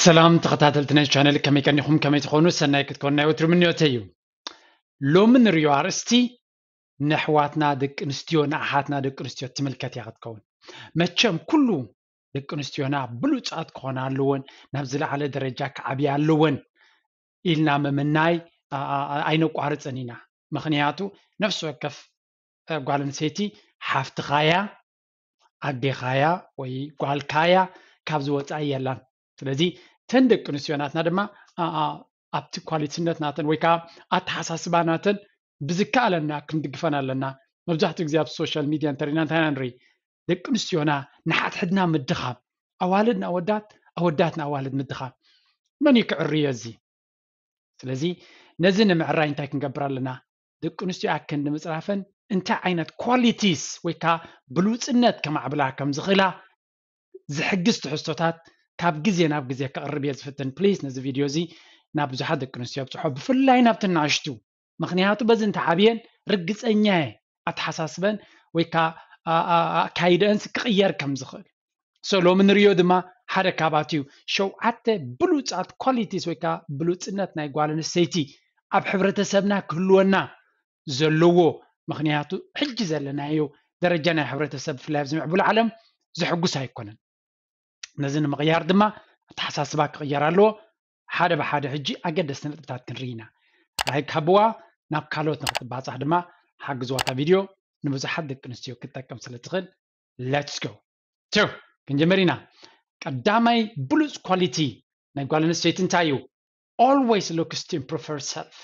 ሰላም ተኸታተልቲ ናይ ቻነል፣ ከመይ ቀኒኹም? ከመይ ትኾኑ? ሰናይ ክትኮኑ ናይ ወትሩ ምንዮተይ እዩ። ሎሚ ንሪኦ ኣርእስቲ ንኣሕዋትና ደቂ ኣንስትዮ፣ ንኣሓትና ደቂ ኣንስትዮ ትምልከት እያ ክትከውን። መቸም ኩሉ ደቂ ኣንስትዮና ብሉጻት ክኾና ኣለወን፣ ናብ ዝለዓለ ደረጃ ክዓብያ ኣለወን ኢልና ምምናይ ኣይነቋርጽን ኢና። ምኽንያቱ ነፍሲ ወከፍ ጓል ኣንስተይቲ ሓፍትኻያ፣ ኣዴኻያ ወይ ጓልካያ ካብ ዝወፃእ የላን። ስለዚ ተን ደቂ ኣንስትዮ ናትና ድማ ኣብቲ ኳሊቲነት ናተን ወይ ከዓ ኣተሓሳስባ ናተን ብዝከኣለና ክንድግፈን ኣለና። መብዛሕትኡ ግዜ ኣብ ሶሻል ሚድያ እንተሪና እንታይ ኢና ንርኢ? ደቂ ኣንስትዮና ንሓድሕድና ምድኻም፣ ኣዋልድ ንኣወዳት፣ ኣወዳት ንኣዋልድ ምድኻም። መን እዩ ክዕርዮ እዚ? ስለዚ ነዚ ንምዕራይ እንታይ ክንገብር ኣለና? ደቂ ኣንስትዮ ኣክንዲ ምፅራፈን እንታይ ዓይነት ኳሊቲስ ወይ ከዓ ብሉፅነት ከማዕብላ ከም ዝኽእላ ዝሕግዝ ትሕዝቶታት ካብ ግዜ ናብ ግዜ ከቕርብ እየ ዝፍትን። ፕሊዝ ነዚ ቪድዮ እዚ ናብ ብዙሓት ደቂ ኣንስትዮ ኣብፅሖ፣ ብፍላይ ናብቲ ናሽቱ። ምኽንያቱ በዚ እንተዓብየን ርግፀኛ እየ ኣተሓሳስበን ወይ ከዓ ኣካይደአንስ ክቕየር ከም ዝኽእል። ሶ ሎሚ ንሪኦ ድማ ሓደ ካብኣትዩ ሸውዓተ ብሉፃት ኳሊቲስ ወይ ከዓ ብሉፅነት ናይ ጓል ኣንስተይቲ ኣብ ሕብረተሰብና ክህልወና ዘለዎ። ምኽንያቱ ሕጂ ዘለናዮ ደረጃ ናይ ሕብረተሰብ ብፍላይ ኣብዚ ምዕቡል ዓለም ዘሕጉስ ኣይኮነን። ነዚ ንምቕያር ድማ ኣተሓሳስባ ክቕየር ኣለዎ። ሓደ ብሓደ ሕጂ ኣገደስቲ ነጥብታት ክንርኢ ኢና። ላይክ ሃብዋ፣ ናብ ካልኦት ንክትባፃሕ ድማ ሓግዝዋ። እታ ቪድዮ ንብዙሓት ደቂ ኣንስትዮ ክትጠቅም ስለ ትኽእል። ሌትስ ጎ። ሶ ክንጀምር ኢና። ቀዳማይ ብሉፅ ኳሊቲ ናይ ጓል ኣንስተይቲ እንታይ እዩ? Always looks to improve herself።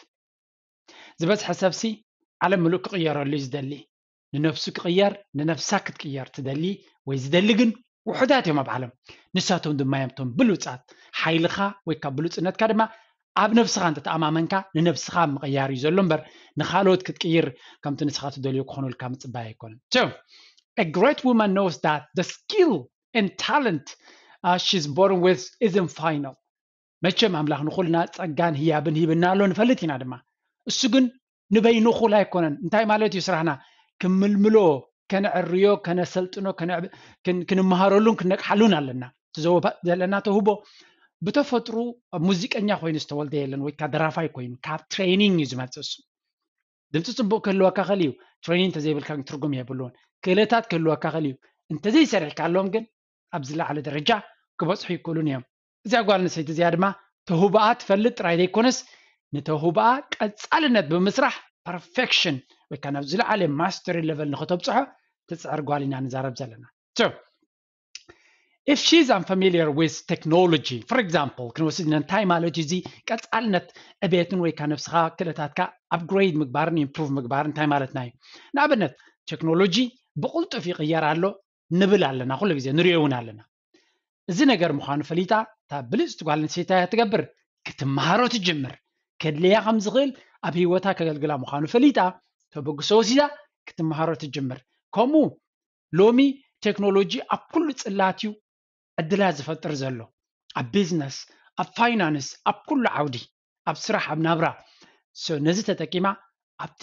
ዝበዝሐ ሰብሲ ዓለም ምሉእ ክቕየረሉ እዩ ዝደሊ። ንነብሱ ክቕየር፣ ንነብሳ ክትቅየር ትደሊ ወይ ዝደሊ ግን ውሑዳት እዮም ኣብ ዓለም። ንሳቶም ድማ እዮም እቶም ብሉጻት። ሓይልኻ ወይ ካብ ብሉጽነትካ ድማ ኣብ ነብስኻ እንተተኣማመንካ ንነብስኻ ምቕያር እዩ ዘሎ እምበር ንኻልኦት ክትቅይር ከምቲ ንስኻ ትደልዮ ክኾኑልካ ምጽባይ ኣይኮነን። So, a great woman knows that the skill and talent uh, she's born with isn't final. መቸም ኣምላኽ ንኹልና ጸጋን ህያብን ሂብና ኣሎ ንፈልጥ ኢና ድማ። እሱ ግን ንበይኑ እኹል ኣይኮነን። እንታይ ማለት እዩ ስራሕና? ክንምልምሎ፣ ከነዕርዮ፣ ከነሰልጥኖ፣ ክንምሃረሉን ክነቅሓሉን ኣለና። እቲ ዘወ- ዘለና ተውህቦ ብተፈጥሩ ሙዚቀኛ ኮይኑ ዝተወልደ የለን ወይ ከዓ ደራፋይ ኮይኑ፣ ካብ ትሬኒንግ እዩ ዝመፅእ እሱ። ድምፂ ፅቡቅ ክህልወካ ክእል እዩ፣ ትሬኒንግ እንተዘይብልካ ግን ትርጉም የብሉን። ክእለታት ክህልወካ ክእል እዩ፣ እንተዘይሰሪሕካሎም ግን ኣብ ዝለዓለ ደረጃ ክበፅሑ ይክእሉን እዮም። እዚኣ ጓል ኣንስተይቲ እዚኣ ድማ ተውህቦኣ ትፈልጥ ጥራይ ዘይኮነስ ንተውህቦኣ ቀፃልነት ብምስራሕ ፐርፌክሽን ወይ ከዓ ናብ ዝለዓለ ማስተሪ ሌቨል ንክተብፅሖ ትፅዕር ጓል ኢና ንዛረብ ዘለና። So, if she's unfamiliar with technology, for example, ክንወስድ ኢና እንታይ ማለት እዩ እዚ ቀፃልነት ዕቤትን ወይ ከዓ ነብስኻ ክእለታትካ ኣፕግሬድ ምግባርን ኢምፕሩቭ ምግባርን እንታይ ማለትና እዩ? ንኣብነት ቴክኖሎጂ ብቕልጡፍ ይቕየር ኣሎ ንብል ኣለና፣ ኩሉ ግዜ ንሪኦ እውን ኣለና። እዚ ነገር ምዃኑ ፈሊጣ እታ ብልፅቲ ጓል ኣንስተይቲ እያ ትገብር ክትመሃሮ ትጅምር። ከድልያ ከም ዝኽእል ኣብ ህይወታ ከገልግላ ምዃኑ ፈሊጣ ተበግሶ ወሲዳ ክትመሃሮ ትጅምር። ከምኡ ሎሚ ቴክኖሎጂ ኣብ ኩሉ ፅላት እዩ ዕድላት ዝፈጥር ዘሎ፣ ኣብ ቢዝነስ፣ ኣብ ፋይናንስ፣ ኣብ ኩሉ ዓውዲ፣ ኣብ ስራሕ፣ ኣብ ናብራ። So ነዚ ተጠቂማ ኣብቲ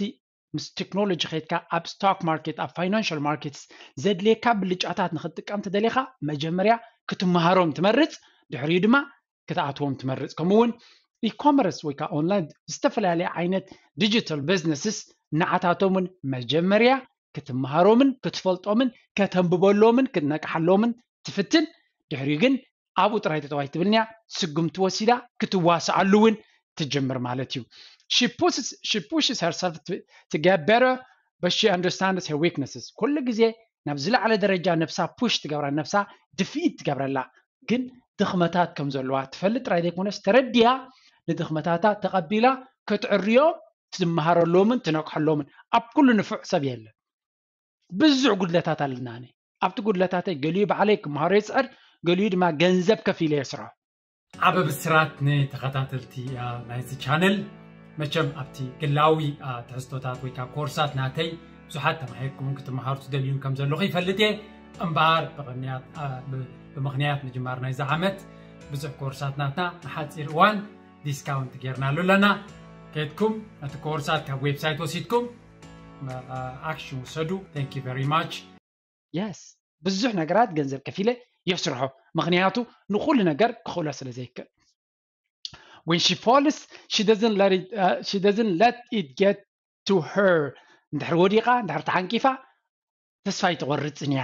ምስ ቴክኖሎጂ ከይድካ ኣብ ስቶክ ማርኬት፣ ኣብ ፋይናንሻል ማርኬትስ ዘድልየካ ብልጫታት ንክትጥቀም ተደሊኻ መጀመርያ ክትመሃሮም ትመርፅ፣ ድሕሪኡ ድማ ክትኣትዎም ትመርፅ። ከምኡ እውን ኢኮመርስ ወይ ከዓ ኦንላይን ዝተፈላለየ ዓይነት ዲጂታል ቢዝነስስ ንዓታቶም እውን መጀመርያ ክትመሃሮምን ክትፈልጦምን ከተንብበሎምን ክትነቅሓሎምን ትፍትን። ድሕሪኡ ግን ኣብኡ ጥራይ ተጠዋይ ትብልንያ ስጉምቲ ወሲዳ ክትዋስኣሉ እውን ትጅምር ማለት እዩ። She pushes, she pushes herself to, to get better, but she understands her weaknesses. ኩሉ ግዜ ናብ ዝለዓለ ደረጃ ነብሳ ፑሽ ትገብራ፣ ነብሳ ድፍኢት ትገብረላ። ግን ድኽመታት ከም ዘለዋ ትፈልጥ ጥራይ ዘይኮነስ ተረዲያ ንድኽመታታ ተቐቢላ ክትዕርዮ ትመሃረሎምን ትነቅሐሎምን። ኣብ ኩሉ ንፉዕ ሰብ የለን። ብዙሕ ጉድለታት ኣለናኒ። ኣብቲ ጉድለታተይ ገሊኡ ባዕለይ ክመሃሮ ይፅዕር፣ ገሊኡ ድማ ገንዘብ ከፊለ የስርሖ። ዓበ ብስራት ንተኸታተልቲ ናይዚ ቻነል። መቸም ኣብቲ ግላዊ ትሕዝቶታት ወይ ከዓ ኮርሳት ናተይ ብዙሓት ተማሂርኩምን ክትመሃሩ ትደልዩን ከም ዘለኹ ይፈልጥ እየ። እምበኣር ብቕንያት ብምኽንያት ምጅማር ናይዚ ዓመት ብዙሕ ኮርሳት ናትና ንሓፂር እዋን ዲስካውንት ጌርናሉ ኣለና። ከድኩም ነቲ ኮርሳት ካብ ዌብሳይት ወሲድኩም ኣክሽን ውሰዱ። Thank you very much። Yes፣ ብዙሕ ነገራት ገንዘብ ከፊለ የስርሖ፣ ምክንያቱ ንኩሉ ነገር ክኽእሎ ስለ ዘይክእል። When she falls, she doesn't let it, uh, she doesn't let it get to her. እንድሕር ወዲቓ፣ እንድሕር ተሓንቂፋ፣ ተስፋ ኣይትቆርጽን እያ።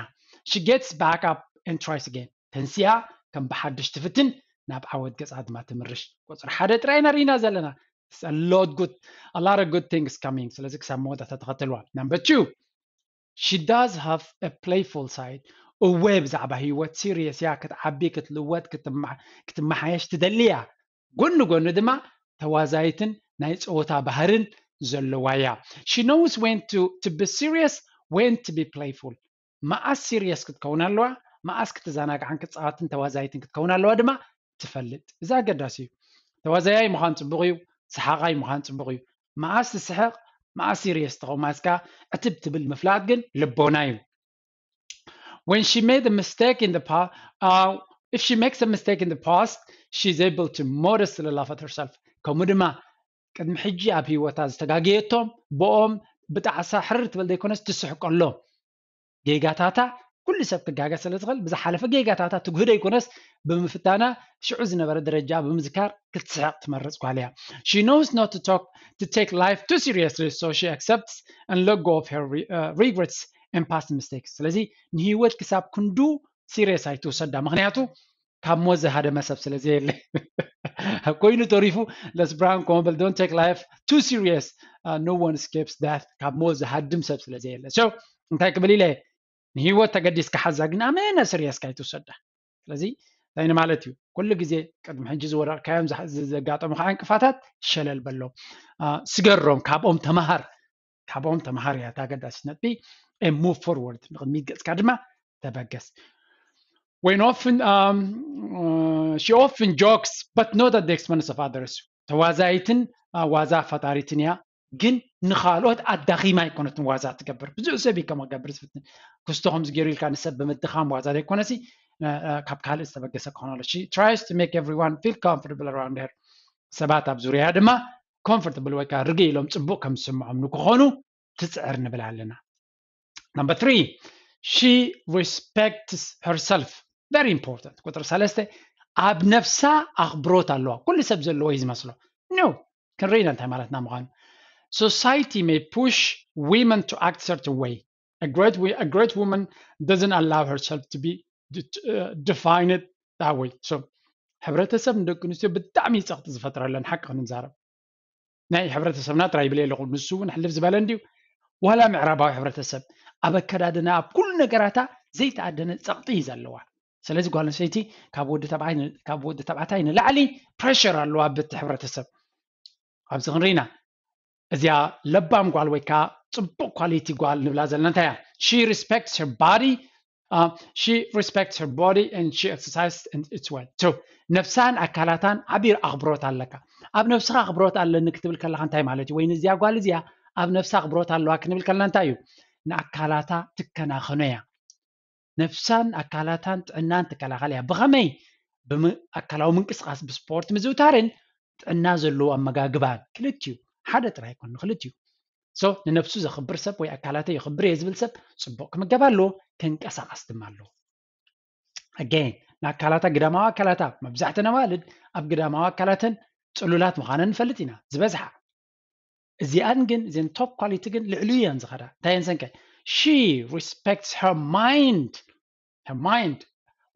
She gets back up and tries again. ተንሲኣ ከም ብሓድሽ ትፍትን፣ ናብ ዓወት ገጻ ድማ ትምርሽ። ቁጽሪ ሓደ ጥራይ ኢና ርኢና ዘለና። It's a lot good, a lot of good things coming። ስለዚ ክሳብ መወዳእታ ተኸተልዋ። Number two, she does have a playful side። እወ፣ ብዛዕባ ህይወት ሲሪየስ እያ። ክትዓቢ፣ ክትልወጥ፣ ክትመሓየሽ ትደሊ እያ። ጎኒ ጎኒ ድማ ተዋዛይትን ናይ ጸወታ ባህርን ዘለዋ እያ። She knows when to, to be serious, when to be playful። መኣስ ሲሪየስ ክትከውን ኣለዋ፣ መኣስ ክትዘናግዓን ክትጻወትን ተዋዛይትን ክትከውን ኣለዋ ድማ ትፈልጥ። እዚ ኣገዳሲ እዩ። ተዋዛያይ ምዃን ጽቡቕ እዩ፣ ሰሓቓይ ምዃን ጽቡቕ እዩ። መኣስ ትስሕቕ፣ መኣስ ሲሪየስ ትኸውን ማለት ከኣ ዕትብ ትብል ምፍላጥ ግን ልቦና እዩ። When she made a mistake in the past, uh, if she makes a mistake in the past, she's able to modestly laugh at herself። ከምኡ ድማ ቅድሚ ሕጂ ኣብ ህይወታ ዝተጋገየቶም ብኦም ብጣዕሳ ሕርር ትብል ዘይኮነስ ትስሕቀሎም። ጌጋታታ ኩሉ ሰብ ክጋገ ስለ ዝኽእል ብዝሓለፈ ጌጋታታ ትጉህደ ኣይኮነስ ብምፍታና ሽዑ ዝነበረ ደረጃ ብምዝካር ክትስሕቕ ትመርጽ ጓል እያ። She knows not to talk to take life too seriously, so she accepts and let go of her re- uh, regrets and past mistakes። ስለዚ ንህይወት ክሳብ ክንዱ ሲሪየስ ኣይትውሰዳ፣ ምክንያቱ ካብ ሞት ዝሃደመ ሰብ ስለ ዘየለ። ኮይኑ ተሪፉ Les Brown Comble don't take life too serious, uh, no one escapes death። ካብ ሞት ዝሃድም ሰብ ስለ ዘየለ። So እንታይ ክብል ኢለ፣ ንህይወት ተገዲስካ ሓዛ፣ ግን ኣመና ስሪየስካ ኣይትውሰዳ። ስለዚ እንታይ ንማለት እዩ? ኩሉ ግዜ ቅድሚ ሕጂ ዝወደቕካዮም ዘ- ዘጋጠሙካ ዕንቅፋታት ሸለል በሎም፣ አ፣ ስገሮም፣ ካብኦም ተምሃር። ካብኦም ተምሃር እያ እታ ኣገዳሲት ነጥቢ። And move forward፣ ንቕድሚት ገጽካ ድማ ተበገስ። When often, um, uh, she often jokes, but not at the expense of others። ተዋዛይትን፣ አ፣ ዋዛ ፈጣሪትን እያ፣ ግን ንኻልኦት ኣዳኺማ ኣይኮነትን ዋዛ ትገብር። ብዙሕ ሰብ እዩ ከምኡ ክገብር ዝፍትን። ክስቶ ከምዚ ገይሩ ኢልካ ንሰብ ብምድኻም ዋዛ ዘይኮነሲ፣ አ፣ አ፣ ካብ ካልእ ዝተበገሰ ክኾን ኣሎ። She tries to make everyone feel comfortable around her። ሰባት ኣብ ዙርያ ድማ ኮምፎርታብል ወይ ከዓ ርግእ ኢሎም ጽቡቕ ከም ዝስምዖም ንክኾኑ ትጽዕር ንብል ኣለና። Number three, she respects herself. Very important። ቁጽሪ ሰለስተ፣ ኣብ ነፍሳ ኣኽብሮት ኣለዋ። ኩሉ ሰብ ዘለዎ እዩ ዝመስሎ። No፣ ክንርኢና እንታይ ማለትና ምዃኑ። Society may push women to act certain way. A great, wi- a great woman doesn't allow herself to be de- uh, defined that way. So ሕብረተሰብ ንደቂ ኣንስትዮ ብጣዕሚ እዩ ጸቕጢ ዝፈጥረለን፣ ሓቂ ክንዛረብ። ናይ ሕብረተሰብና ጥራይ ይብል ኣለኹ፣ ንሱ እውን ሕልፍ ዝበለ እንድዩ። ዋላ ምዕራባዊ ሕብረተሰብ ኣብ ኣከዳድና፣ ኣብ ኩሉ ነገራታ ዘይተኣደነ ጸቕጢ እዩ ዘለዋ። ስለዚ ጓል ኣንስተይቲ ካብ ወዲ ተባዕታይ ን- ካብ ወዲ ተባዕታይ ንላዕሊ ፕሬሸር ኣለዋ በቲ ሕብረተሰብ። ኣብዚ ክንርኢና፣ እዚኣ ለባም ጓል ወይ ከዓ ጽቡቕ ኳሊቲ ጓል ንብላ ዘለና እንታይ እያ? She respects her body, uh, she respects her body and she exercises and it's well. So ነፍሳን ኣካላታን ዓቢ ኣኽብሮት ኣለካ። ኣብ ነብስኻ ኣኽብሮት ኣለኒ ክትብል ከለኻ እንታይ ማለት እዩ? ወይ ንዚኣ ጓል እዚኣ ኣብ ነፍሳ ኣኽብሮት ኣለዋ ክንብል ከለና እንታይ እዩ? ንኣካላታ ትከናኸኖ እያ። ነፍሳን ኣካላታን ጥዕናን ትከላኸል እያ። ብኸመይ? ብም- ኣካላዊ ምንቅስቃስ፣ ብስፖርት ምዝውታርን ጥዕና ዘለዎ ኣመጋግባን። ክልቲኡ፣ ሓደ ጥራይ ኣይኮን፣ ክልቲኡ። So ንነብሱ ዘኽብር ሰብ ወይ ኣካላተይ የኽብር እየ ዝብል ሰብ ጽቡቕ ክምገብ ኣለዎ፣ ክንቀሳቐስ ድማ ኣለዎ። Again፣ ንኣካላታ፣ ግዳማዊ ኣካላታ፣ መብዛሕተን ኣዋልድ ኣብ ግዳማዊ ኣካላተን ጽሉላት ምዃነን ንፈልጥ ኢና ዝበዝሓ። እዚኣን ግን፣ እዘን ቶፕ ኳሊቲ ግን ልዕሊኡ እየን ዝኸዳ። እንታይ እየን ሰንከ? She respects her mind. Her mind.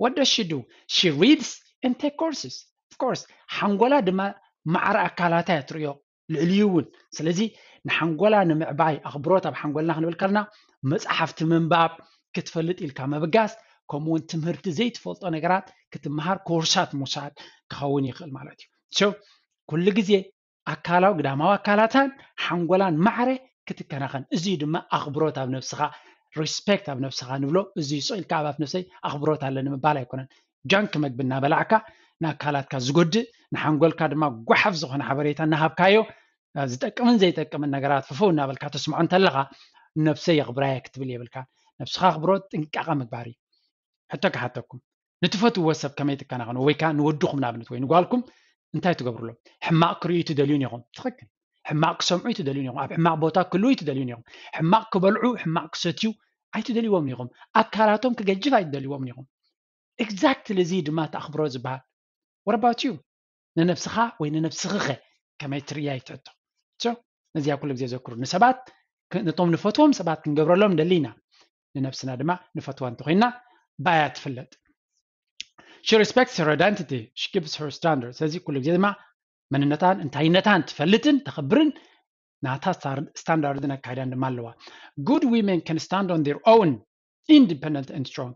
What does she do? She reads and take courses. Of course፣ ሓንጎላ ድማ ማዕረ ኣካላታ እያ ትርእዮ፣ ልዕሊኡ እውን። ስለዚ ንሓንጎላ ንምዕባይ ኣኽብሮት ኣብ ሓንጎልና ክንብል ከለና መጽሓፍቲ ምንባብ፣ ክትፈልጥ ኢልካ ምብጋስ፣ ከምኡ እውን ትምህርቲ ዘይትፈልጦ ነገራት ክትመሃር ኮርሳት ምውሳድ ክኸውን ይኽእል ማለት እዩ። So ኩሉ ግዜ ኣካላዊ ግዳማዊ ኣካላታን ሓንጎላን ማዕረ ክትከናኸን፣ እዚ ድማ ኣኽብሮት ኣብ ነብስኻ፣ ሪስፔክት ኣብ ነብስኻ ንብሎ። እዚ ስቕ ኢልካ ኣብ ኣፍ ነብሰይ ኣኽብሮት ኣለኒ ምባል ኣይኮነን። ጃንክ መግቢ እናበላዕካ ንኣካላትካ ዝጎድእ፣ ንሓንጎልካ ድማ ጓሓፍ ዝኾነ ሓበሬታ እናሃብካዮ፣ እ፣ ዝጠቅምን ዘይጠቅምን ነገራት ፍፍው እናበልካ ተስምዖ እንተለኻ፣ ነብሰይ የኽብራየ ክትብል የብልካ። ነብስኻ ኣኽብሮት ጥንቃቐ ምግባር እዩ። ሕቶ ክሓተኩም፣ ንትፈትዎ ሰብ ከመይ ትከናኸኑ? ወይ ከዓ ንወድኹም ንኣብነት ወይ ንጓልኩም እንታይ ትገብሩሎም? ሕማቕ ክርእዩ ትደልዩን ኢኹም። ትኽክል። ሕማቕ ክሰምዑ ኣይትደልዩን ኢኹም። ኣብ ሕማቕ ቦታ ክህልዉ ኣይትደልዩን ኢኹም። ሕማቕ ክበልዑ፣ ሕማቕ ክሰትዩ ኣይትደልይዎም ኢኹም። ኣካላቶም ክገጅፍ ኣይትደልይዎም ኢኹም። ኤግዛክትሊ እዚ ድማ እቲ ኣኽብሮት ዝበሃል። What about you? ንነብስኻ ወይ ንነብስኺ ኸ ከመይ ትርእያ እዩ እቲ ሕቶ። So ነዚኣ ኩሉ ግዜ ዘክሩ። ንሰባት ክ- ነቶም ንፈትዎም ሰባት ክንገብረሎም ንደሊ ኢና። ንነብስና ድማ ንፈትዋ እንተኮይና ባያ ትፍለጥ። She respects her identity, she keeps her standards. ስለዚ ኩሉ ግዜ ድማ መንነታን እንታይነታን ትፈልጥን ተኽብርን ናታ ስታር- ስታንዳርድን ኣካይዳን ድማ ኣለዋ። Good women can stand on their own, independent and strong.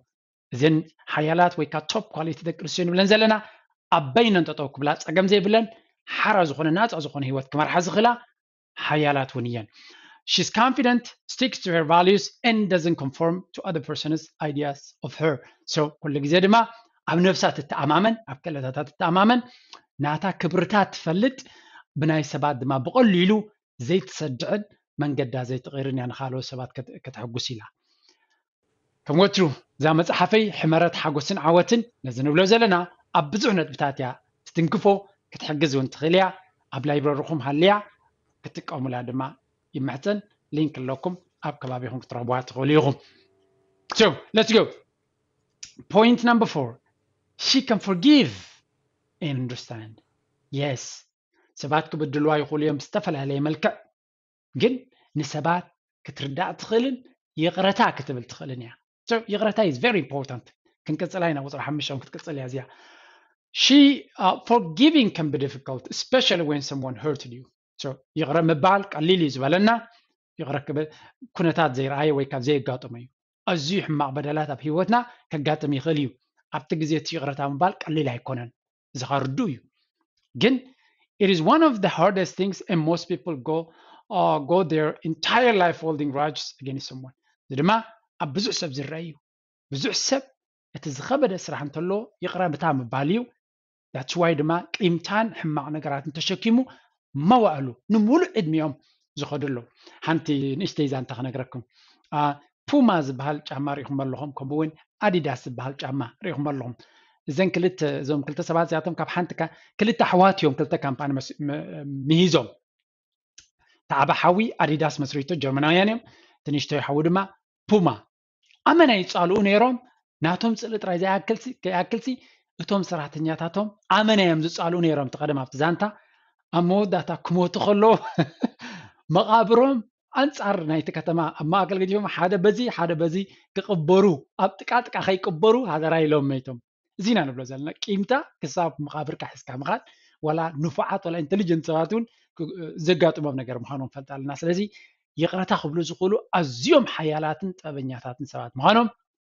እዘን ሓያላት ወይ ከዓ ቶፕ ኳሊቲ ደቂ ኣንስትዮ ንብለን ዘለና ኣብ በይነን ጠጠው ክብላ ፀገም ዘይብለን ሓራ ዝኾነ ናፃ ዝኾነ ህይወት ክመርሓ ዝኽእላ ሓያላት እውን እየን። She's confident, sticks to her values and doesn't conform to other person's ideas of her. So ኩሉ ግዜ ድማ ኣብ ነብሳ ትተኣማመን፣ ኣብ ክእለታታ ትተኣማመን፣ ናታ ክብርታት ትፈልጥ፣ ብናይ ሰባት ድማ ብቐሊሉ ዘይትሰድዕን መንገዳ ዘይትቕይርን እያ ንኻልኦት ሰባት ከት- ከተሐጉስ ኢላ። ከም ወትሩ እዛ መፅሓፈይ ሕመረት ሓጎስን ዓወትን ነዚ ንብሎ ዘለና ኣብ ብዙሕ ነጥብታት እያ ትትንክፎ፣ ክትሕግዝ እውን ትኽእል እያ። ኣብ ላይብረሪኹም ሃልያ ክትጥቀሙላ ድማ ይምሕፀን። ሊንክ ኣለኩም ኣብ ከባቢኹም ክትረኽቡዋ ትኽእሉ ኢኹም። So let's go. Point number four. She can forgive and understand. Yes, ሰባት ክብድልዋ ይኽእሉ እዮም ብዝተፈላለየ መልክዕ፣ ግን ንሰባት ክትርዳእ ትኽእልን ይቕረታ ክትብል ትኽእልን እያ። So ይቕረታ is very important። ክንቅፅላ ኢና ቁፅሪ ሓሙሽተ ክትቅፅል እያ እዚኣ። She uh, forgiving can be difficult, especially when someone hurted you. So ይቕረ ምባል ቀሊል እዩ ዝበለና ይቕረ ክብል ኩነታት ዘይረኣየ ወይ ካብ ዘየጋጠመ እዩ። ኣዝዩ ሕማቕ በደላት ኣብ ህይወትና ከጋጥም ይኽእል እዩ። ኣብቲ ግዜ እቲ ይቕረታ ምባል ቀሊል ኣይኮነን። እዚ ኸዓ ርዱእ እዩ። ግን it is one of the hardest things and most people go uh, go their entire life holding grudges against someone. እዚ ድማ ኣብ ብዙሕ ሰብ ዝረአ እዩ። ብዙሕ ሰብ እቲ ዝኸበደ ስራሕ እንተሎ ይቕረ ምታ ምባል እዩ። That's why ድማ ቂምታን ሕማቕ ነገራትን ተሸኪሙ መዋእሉ ንምሉእ ዕድሚኦም ዝኸዱ ኣለዉ። ሓንቲ ንእሽተይ ዛንታ ክነግረኩም። አ፣ ፑማ ዝበሃል ጫማ ሪኢኹም ኣለኹም፣ ከምኡ እውን ኣዲዳስ ዝበሃል ጫማ ሪኢኹም ኣለኹም። እዘን ክልተ እዞም ክልተ ሰባት እዚኣቶም ካብ ሓንቲ ካ- ክልተ ኣሕዋት እዮም ክልተ ካምፓኒ መስ- ም- ምሂዞም። እቲ ዓቢ ሓዊ ኣዲዳስ መስሪቶ ጀርመናውያን እዮም። እቲ ንእሽተይ ሓዊ ድማ ፑማ። ኣመና ይጻልኡ ነይሮም። ናቶም ጽልኢ ጥራይ ዘይኣክልሲ ከይኣክልሲ እቶም ሰራሕተኛታቶም ኣመና እዮም ዝጻልኡ ነይሮም። እቲ ቀደም ኣብቲ ዛንታ ኣብ መወዳእታ ክሞቱ ከለዉ መቓብሮም ኣንጻር ናይቲ ከተማ ኣብ ማእከል ገዲፎም ሓደ በዚ ሓደ በዚ ክቕበሩ ኣብ ጥቃ ጥቃ ከይቅበሩ ሃደራ ኢሎም መይቶም። እዚ ኢና ንብሎ ዘለና ቂምታ ክሳብ መቓብርካ ሒዝካ ምኻድ ዋላ ንፉዓት ዋላ ኢንቴሊጀንት ሰባት እውን ክ- ዘጋጥሞም ነገር ምዃኑ ንፈልጥ ኣለና። ስለዚ ይቕረታ ክብሉ ዝኽእሉ ኣዝዮም ሓያላትን ጥበበኛታትን ሰባት ምዃኖም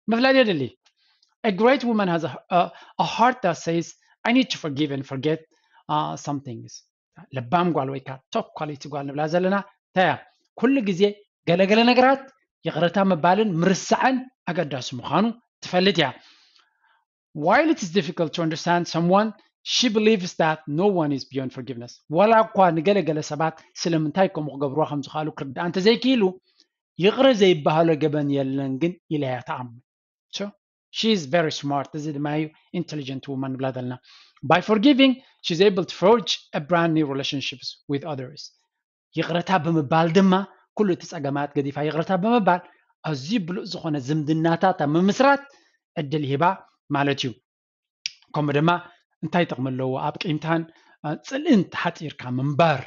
ምፍላጥ የድሊ። A great woman has a, a, a heart that says I need to forgive and forget uh, some things. ለባም ጓል ወይ ከዓ ቶፕ ኳሊቲ ጓል ንብላ ዘለና እንታይ እያ? ኩሉ ግዜ ገለገለ ነገራት ይቕረታ ምባልን ምርሳዕን ኣገዳሲ ምዃኑ ትፈልጥ እያ። While it is difficult to understand someone, she believes that no one is beyond forgiveness. ዋላ እኳ ንገለገለ ሰባት ስለምንታይ ከምኡ ክገብርዋ ከም ዝኽኣሉ ክርዳእ እንተዘይክኢሉ ይቕረ ዘይበሃሎ ገበን የለን ግን ኢላ እያ ትኣምን። So she is very smart. እዚ ድማ እዩ ኢንቴሊጀንት ውማን ንብላ ዘለና። By forgiving, she's able to forge a brand new relationships with others. ይቕረታ ብምባል ድማ ኩሉ እቲ ጸገማት ገዲፋ ይቕረታ ብምባል ኣዝዩ ብሉጽ ዝኾነ ዝምድናታት ኣብ ምምስራት ዕድል ይህባ ማለት እዩ። ከምኡ ድማ እንታይ ጥቕሚ ኣለዎ ኣብ ቂምታን ጽልእን ተሓጺርካ ምንባር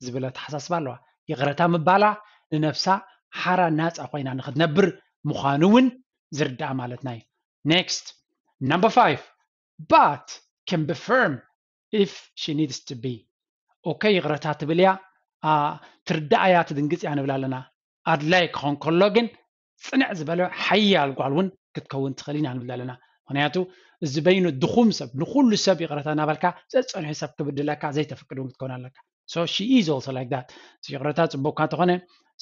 ዝብል ኣተሓሳስባ ኣለዋ። ይቕረታ ምባላ ንነብሳ ሓራ ናፃ ኮይና ንክትነብር ምዃኑ እውን ዝርዳኣ ማለትና እዩ። Next, number five, but can be firm if she needs to be. ኦኬ ይቕረታ ትብል እያ፣ ትርዳኣ እያ፣ ትድንግፅ እያ ንብል ኣለና። ኣድላይ ክኾን ከሎ ግን ፅንዕ ዝበለ ሓያል ጓል እውን ክትከውን ትኽእል ኢና ንብል ኣለና። ምክንያቱ እዚ በይኑ ድኹም ሰብ ንኩሉ ሰብ ይቕረታ እናበልካ ዘፀንሑ ሰብ ክብድለካ ዘይተፍቅድ እውን ክትከውን ኣለካ። So she is also like that. ይቕረታ ፅቡቅካ እንተኾነ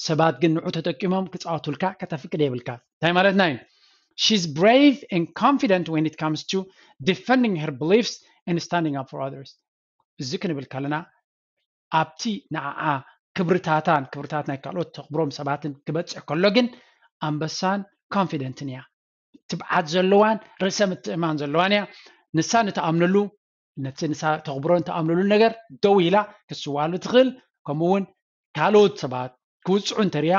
ሰባት ግን ንዑ ተጠቂሞም ክፃወቱልካ ከተፍቅድ የብልካ። እንታይ ማለትና እዩ? She's brave and confident when it comes to defending her beliefs and standing up for others. እዚ ክንብል ከለና ኣብቲ ንዓኣ ክብርታታን ክብርታት ናይ ካልኦት ተኽብሮም ሰባትን ክበፅሕ ከሎ ግን ኣንበሳን ኮንፊደንትን እያ። ትብዓት ዘለዋን ርእሰ ምትእማን ዘለዋን እያ። ንሳ ንትኣምነሉ፣ ነቲ ንሳ ተኽብሮን ትኣምነሉ ነገር ደው ኢላ ክትስዋሉ ትኽእል። ከምኡ እውን ካልኦት ሰባት ክውፅዑ እንተሪኣ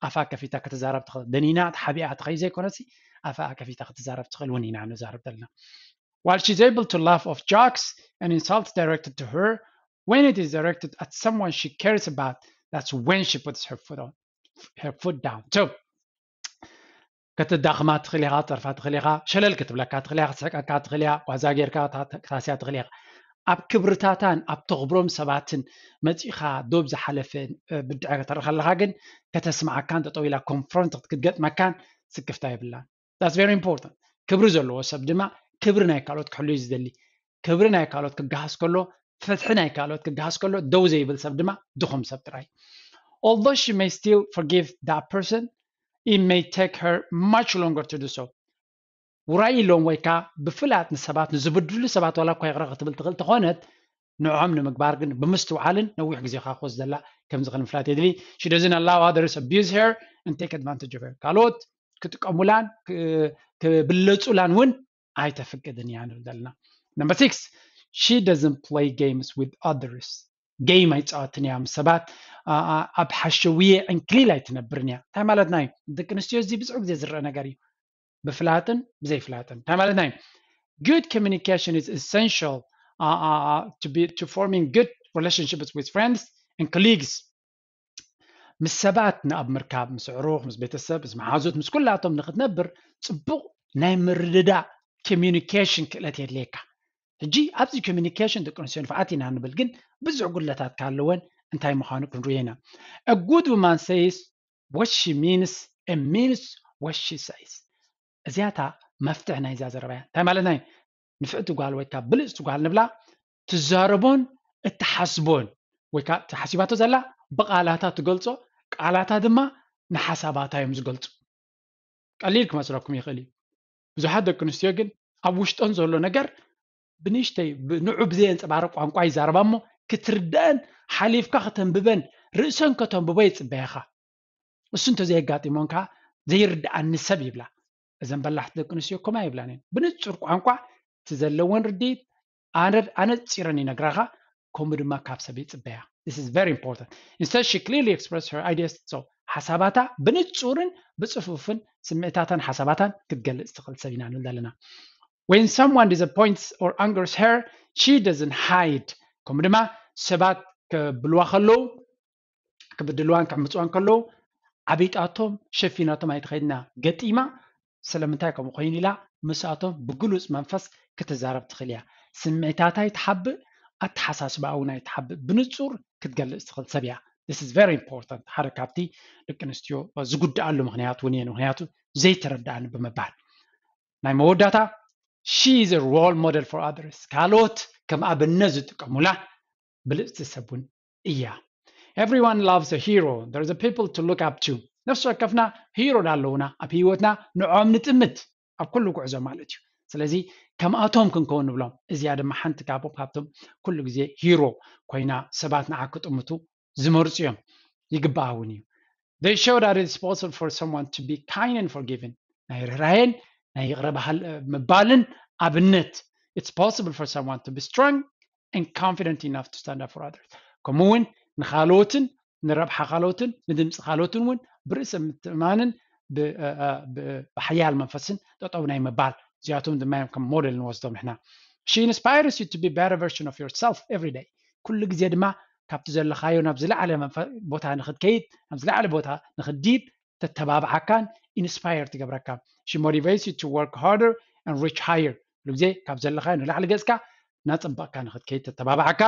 ኣፋ ከፊታ ክትዛረብ ትኽእል። ደኒና ተሓቢኣ ትኸይ ዘይኮነሲ ኣፋ ከፊታ ክትዛረብ ትኽእል እውን ኢና ንዛረብ ዘለና። While she's able to laugh off jokes and insults directed to her, when it is directed at someone she cares about, that's when she puts her foot on her foot down. So ከተዳኽማ ትኽእል ኢኻ፣ ትጸርፋ ትኽእል ኢኻ፣ ሸለል ክትብለካ ትኽእል ኢኻ፣ ክትስሕቀካ ትኽእል እያ፣ ዋዛ ጌርካ ክታስያ ትኽእል ኢኻ። ኣብ ክብርታታን ኣብ ተኽብሮም ሰባትን መጺኻ ዶብ ዝሓለፈ ብድዐ ከተርኢ ከለኻ ግን ከተስምዓካን ጠጠው ኢላ ኮንፍሮንት ክትገጥመካን ስክፍታ የብላን። That's very important። ክብሪ ዘለዎ ሰብ ድማ ክብሪ ናይ ካልኦት ክሕሉ እዩ ዝደሊ። ክብሪ ናይ ካልኦት ክገሃስ ከሎ፣ ፍትሒ ናይ ካልኦት ክገሃስ ከሎ ደው ዘይብል ሰብ ድማ ድኹም ሰብ ጥራይ። Although she may still forgive that person, it may take her much longer to do so. ውራይ ኢሎም ወይ ከዓ ብፍላጥ ንሰባት ንዝብድሉ ሰባት ዋላ እኳ ይቕረ ክትብል ትኽእል ተኾነት፣ ንዕኦም ንምግባር ግን ብምስትውዓልን ነዊሕ ግዜኻ ክወስደላ ከም ዝኽእል ምፍላጥ የድሊ። She doesn't allow others abuse her and take advantage of her. ካልኦት ክጥቀሙላን ክብለፁላን እውን ኣይተፍቅድን እያ ንብል ዘለና። Number six, she doesn't play games with others. ጌም ኣይፃወትን እያ ምስ ሰባት። ኣብ ሓሸውየ ዕንክሊል ኣይትነብርን እያ። እንታይ ማለትና እዩ? ደቂ ኣንስትዮ እዚ ብዙሕ ግዜ ዝረአ ነገር እዩ። ብፍላጥን ብዘይፍላጥን። እንታይ ማለትና እዩ? Good communication is essential to be to forming good relationships with friends and colleagues. ምስ ሰባት ንኣብ ምርካብ፣ ምስ ኣዕሩኽ፣ ምስ ቤተሰብ፣ ምስ መሓዙት፣ ምስ ኩላቶም ንክትነብር ፅቡቕ ናይ ምርድዳእ ኮሚኒኬሽን ክእለት የድልየካ። ሕጂ ኣብዚ ኮሚኒኬሽን ደቂ ኣንስትዮ ንፍዓት ኢና ንብል፣ ግን ብዙሕ ጉድለታት ካለወን እንታይ ምዃኑ ክንርእዮ ኢና። A good woman says what she means and means what she says. እዚኣታ መፍትሕ ናይዛ ዘረባ እያ። እንታይ ማለትና እዩ? ንፍዕቲ ጓል ወይ ከዓ ብልፅቲ ጓል ንብላ ትዛረቦን እትሓስቦን ወይ ከዓ ተሓሲባቶ ዘላ ብቓላታ ትገልፆ፣ ቃላታ ድማ ንሓሳባታ እዮም ዝገልፁ። ቀሊል ክመስለኩም ይኽእል እዩ። ብዙሓት ደቂ ኣንስትዮ ግን ኣብ ውሽጠን ዘሎ ነገር ብንእሽተይ ንዑ ብዘየንፀባርቕ ቋንቋ ይዛረባ እሞ ክትርደአን ሓሊፍካ ከተንብበን ርእሰን ከተንብቦ ይፅበያኻ። እሱ እንተዘየጋጢሞን ከዓ ዘይርድኣኒ ሰብ ይብላ። እዘን በላሕቲ ደቂ ኣንስትዮ ከምኡ ኣይብላን እየን። ብንፁር ቋንቋ እቲ ዘለወን ርድኢት ኣነፂረን ይነግራኻ፣ ከምኡ ድማ ካብ ሰብ ይፅበያ። This is very important. Instead, she clearly expressed her ideas. So ሓሳባታ ብንፁርን ብፅፉፍን ስምዒታታን ሓሳባታን ክትገልፅ ትኽእል ሰብ ኢና ንብል ዘለና። When someone disappoints or angers her, she doesn't hide. ከምኡ ድማ ሰባት ከብልዋ ከለዉ ክብድልዋን ክዕምፅዋን ከለዉ ዓቢጣቶም ሸፊናቶም ኣይትኸይድና ገጢማ። ስለምንታይ ከምኡ ኮይኑ ኢላ ምስኣቶም ብግሉፅ መንፈስ ክትዛረብ ትኽእል እያ። ስምዒታታ ይትሓብእ፣ ኣተሓሳስባኣ እውን ኣይትሓብእ፣ ብንፁር ክትገልፅ ትኽእል ሰብ እያ። This is very important። ሓደ ካብቲ ደቂ ኣንስትዮ ዝጉድኣሉ ምክንያት እውን እየን። ምክንያቱ ዘይተረድኣኒ ብምባል ናይ መወዳታ she is a role model for others። ካልኦት ከም ኣብነት ዝጥቀሙላ ብልፅቲ ሰብ እውን እያ። Everyone loves a hero. There is a people to look up to. ነፍሲ ወከፍና ሂሮ ኣለውና ኣብ ህይወትና፣ ንዕኦም ንጥምት ኣብ ኩሉ ጉዕዞ ማለት እዩ። ስለዚ ከምኣቶም ክንከውን ንብሎም። እዚኣ ድማ ሓንቲ ካብኦም ካብቶም ኩሉ ግዜ ሂሮ ኮይና ሰባት ንዓ ክጥምቱ ዝመርፁ እዮም፣ ይግባእ እውን እዩ። They show that it's possible for someone to be kind and forgiving. ናይ ርህራሄን ናይ ይቕረ ምባልን ኣብነት። It's possible for someone to be strong and confident enough to stand up for others. ከምኡ እውን ንኻልኦትን ንረብሓ ካልኦትን ንድምፂ ካልኦትን እውን ብርእሰ ምትእማንን ብሓያል መንፈስን ጠጠው ናይ ምባል፣ እዚኣቶም ድማ እዮም ከም ሞዴል ንወስዶም ንሕና። She inspires you to be better version of yourself every day. ኩሉ ግዜ ድማ ካብቲ ዘለኻዮ ናብ ዝለዓለ ቦታ ንክትከይድ፣ ናብ ዝለዓለ ቦታ ንክትዲድ ተተባብዓካን ኢንስፓየር ትገብረካ። She motivates you to work harder and reach higher. ኩሉ ግዜ ካብ ዘለኻዮ ንላዕሊ ገፅካ እናፀበቕካ ንክትከይድ ተተባብዓካ።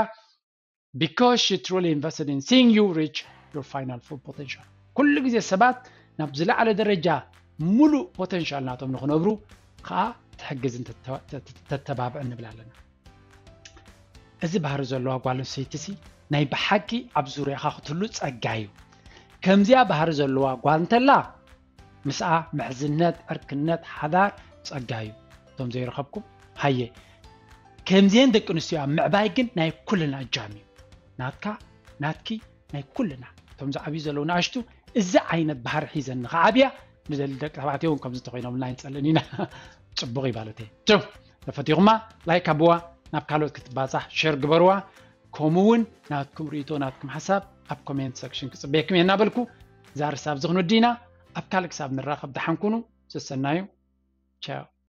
Because she truly invested in seeing you reach your final full potential. ኩሉ ግዜ ሰባት ናብ ዝለዓለ ደረጃ ሙሉእ ፖቴንሻል ናቶም ንክነብሩ ከዓ ትሕግዝን ተተባብዕን ንብል ኣለና። እዚ ባህሪ ዘለዋ ጓል ኣንስተይቲ ሲ ናይ ብሓቂ ኣብ ዙርያኻ ክትህሉ ጸጋ እዩ። ከምዚኣ ባህሪ ዘለዋ ጓል እንተላ ምስኣ ምሕዝነት፣ ዕርክነት፣ ሓዳር ጸጋ እዩ። እቶም ዘይረኸብኩም ሃየ። ከምዚአን ደቂ ኣንስትዮ ኣብ ምዕባይ ግን ናይ ኩልና እጃም እዩ። ናትካ፣ ናትኪ፣ ናይ ኩልና። እቶም ዝዓብዩ ዘለዉ ንኣሽቱ እዚ ዓይነት ባህሪ ሒዘን ንኽዓብያ ንደሊ ደቂ ተባዕትዮ እውን ከምዚ ተኮይኖምልና ኣይንጸልን ኢና። ጽቡቕ እዩ ማለት እዩ። ጆ፣ ተፈቲኹማ ላይክ ኣብዋ፣ ናብ ካልኦት ክትባጻሕ ሸር ግበርዋ። ከምኡ እውን ናትኩም ርእይቶ፣ ናትኩም ሓሳብ ኣብ ኮሜንት ሰክሽን ክጽበየኩም እየ እናበልኩ፣ እዛ ርሳብ እዚ ክንወዲ ኢና። ኣብ ካልእ ክሳብ ንራኸብ ደሓን ኩኑ። ሰሰናዩ። ቻው።